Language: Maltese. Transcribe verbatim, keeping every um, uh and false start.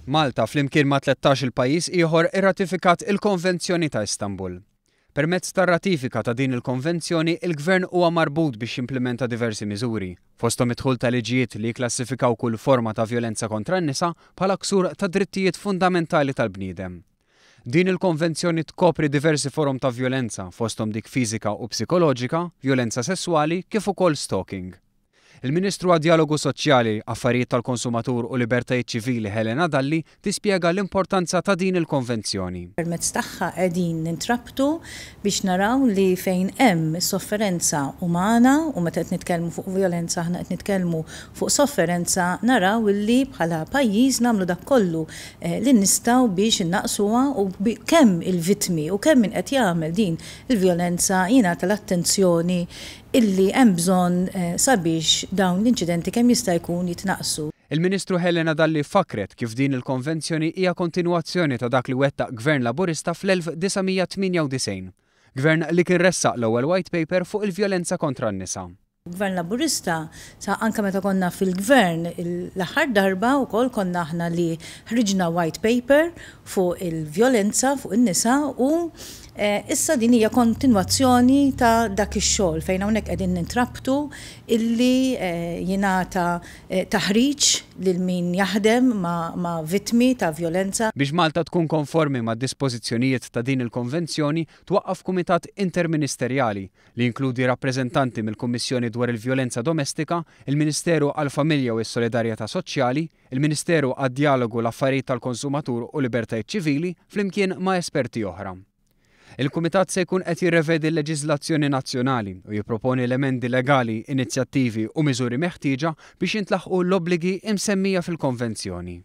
Malta flimkien ma' tlettax-il pajjiż ieħor irratifikat il-Konvenzjoni ta' Istanbul. Permezz tar-ratifika ta' din il-konvenzjoni, il-Gvern huwa marbut biex jimplementa diversi miżuri, fosthom id-dħul ta' liġijiet li jikklassifikaw kull forma ta' vjolenza kontra n-nisa bħala ksur ta' drittijiet fundamentali tal-bniedem. Din il-konvenzjoni tkopri diversi forom ta' vjolenza, fosthom dik fiżika u psikoloġika, vjolenza sesswali kif ukoll stalking. Il-Ministru għad-Djalogu Soċjali, Affarijiet tal-Konsumatur u Libertajiet Ċivili Helena Dalli tispjega l-importanza ta' din il-konvenzjoni. Permezz tagħha qegħdin nintrabtu biex naraw li fejn hemm sofferenza umana, u meta qed nitkellmu fuq vjolenza aħna qed nitkellmu fuq sofferenza, naraw li bħala pajjiż nagħmlu dak kollu li nistgħu biex innaqsuha u kemm il-vittmi u kemm min qed jagħmel din il-vjolenza jingħata l-attenzjoni illi hemm bżonn sabiex dawn l-inċidenti kemm jista' jkun jitnaqsu. Il-Ministru Helena Dalli fakret kif din il-konvenzjoni hija kontinwazzjoni ta' dak li wettaq Gvern Laburista fl-elf disa' mija tmienja u disgħin. Gvern li kien ressaq l-ewwel white paper fuq il-vjolenza kontra n-nisa. Gvern Laburista, sa anke meta konna fil-gvern l-aħħar darba wkoll konna aħna li ħriġna white paper fuq il-vjolenza fuq in-nisa u issa din hija kontinwazzjoni ta' dak ix-xogħol fejn hawnhekk qegħdin nintrabtu illi jingħata taħriġ lil min jaħdem ma' vittmi ta' vjolenza. Biex Malta tkun konformi ma' dispożizzjonijiet ta' din il-konvenzjoni, twaqqaf kumitat interministerjali li jinkludi rappreżentanti mill-Kummissjoni dwar il-Vjolenza Domestika, il-Ministeru għall-Familja u s-Solidarjetà Soċjali, il-Ministeru għad-Djalogu l-Affarijiet tal-Konsumatur u Libertajiet Ċivili, flimkien ma' esperti oħra. Il-Kumitat se jkun qed jirrevedi l-leġiżlazzjoni nazzjonali u jipproponi l-emendi legali, inizjattivi u miżuri meħtieġa biex jintlaħqu l-obbligi imsemmija fil-konvenzjoni.